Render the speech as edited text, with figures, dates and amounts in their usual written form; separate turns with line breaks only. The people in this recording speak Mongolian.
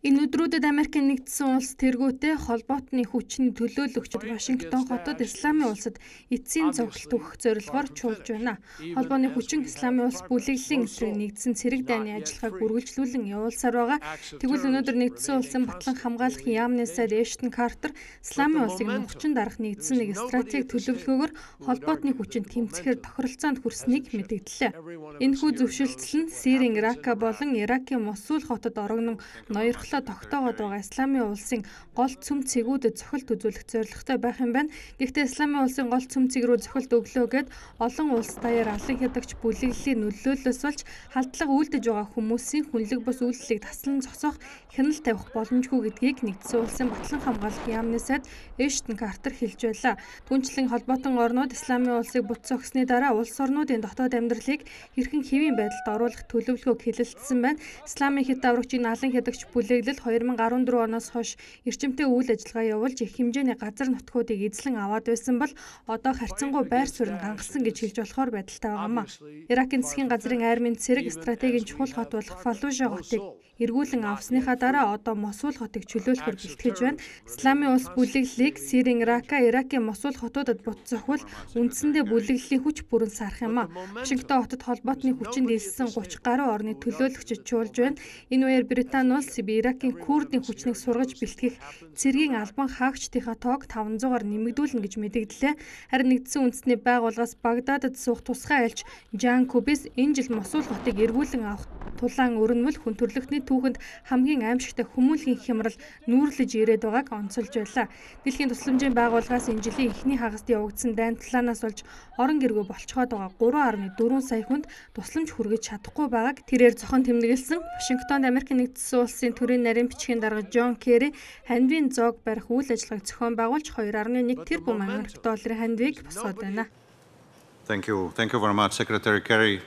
Энэ өдрүүдэд Америкийн нэгдсэн улс тэргүүтээ холбоотны хүчний төлөөлөгчд Вашингтон хотод Исламын улсад эцсийн зогсолт өгөх зорилгоор чуулж байна. Холбооны хүчин Исламын улс бүлэглэлийн эсрэг нэгдсэн цэрэг дайны ажиллагааг үргэлжлүүлэн явуулсаар байгаа. Тэгвэл өнөөдөр нэгдсэн улсын батлан хамгаалах яамны сайд Эштон Картер Исламын улсыг нухчин дарах нэгдсэн нэг стратеги төлөвлөгөөгөөр холбоотны хүчинд тэмцэхээр тохиролцоонд хүрснийг мэдэгдлээ. Энэхүү зөвшөлтсөл нь Сирийн Рака болон Иракийн Мосул хотод орогнон ноёрхлоо тогтоогоод байгаа Исламын улсын гол цөм цэгүүдэд цохилт үзүүлэх зорилготой байх юм байна. Гэхдээ Исламын улсын гол цөм цэг рүү цохилт өглөө гэд олон улс даяар алан хядагч бүлэглэлийн нөлөөллөөс болж халдлага үйлдэж байгаа хүмүүсийн хүнлэг бус үйлдэлийг таслан зогсоох хяналт тавих боломжгүй гэдгийг нэгдсэн улсын батлан хамгаалах яамны сайд Эштон Картер хэлж байлаа. Түүнчлэн холбоотон орнууд Исламын улсыг бут зогссны дараа улс орнуудын дотоод амьдралыг хэрхэн хэвийн байдалд оруулах төлөвлөгөөг хэлэлцсэн байна. Исламын хит даврагчийн алан хядагч бүлэглэл 2014 оноос хойш эрчимтэй үйл ажиллагаа явуулж их хэмжээний газар нутгуудыг эзлэн аваад байсан бол одоо харьцангуй байр суурь нь гангасан гэж хэлж болохоор байдалтай байгаамаа. Иракийн засгийн газрын армийн цэрэг стратегийн чухал хот болох Фаллужа хотыг эргүүлэн авсныхаа дараа одоо Мосул хотыг чөлөөлөхөөр бэлтгэж байна. Исламын улс бүлэглэлийг Сирийн Рака, Иракийн Мосул хотуудад бут зохивол үндсэндээ бүлэглэлийн хүч бүрэн сарах юм а. Вашингтон хотод холбоотны хүчинд илсэн 30 гаруй орны төлөөлөгчд чуулж байна. Энэ үеэр Британи улс Иракийн Курдийн хүчнийг сургаж бэлтгэх цэргийн албан хаагчдынхаа тоог 500-аар нэмэгдүүлнэ гэж мэдэгдлээ. Харин нэгдсэн үндэсний байгууллагаас Багдадад суух тусгай айлч Жан Кубис энэ жил Мосул хотыг эргүүлэн авах тулаан өрнөвөл хүн төрөлхтний түүхэнд хамгийн аимшигтай хүмүүнлэгийн хямрал нүүрлэж ирээд байгааг онцолж байлаа. Дэлхийн тусламжийн байгууллагаас энэ жилийн эхний хагаст явагдсан дайн талаанаас болж орон гэргүй болцоход байгаа 3.4 сая хүнд тусламж хүргэж чадахгүй байгааг тэрээр зохон тэмдэглэсэн. Вашингтонд Америкийн нэгдсэн улсын төрийн нарийн бичгийн дарга Джон Керри хандивын зоог барих үйл ажиллагааг зохион байгуулж 2.1 тэрбум америк долларын хандивыг босгоод байна.
Thank you very much, Secretary Kerry.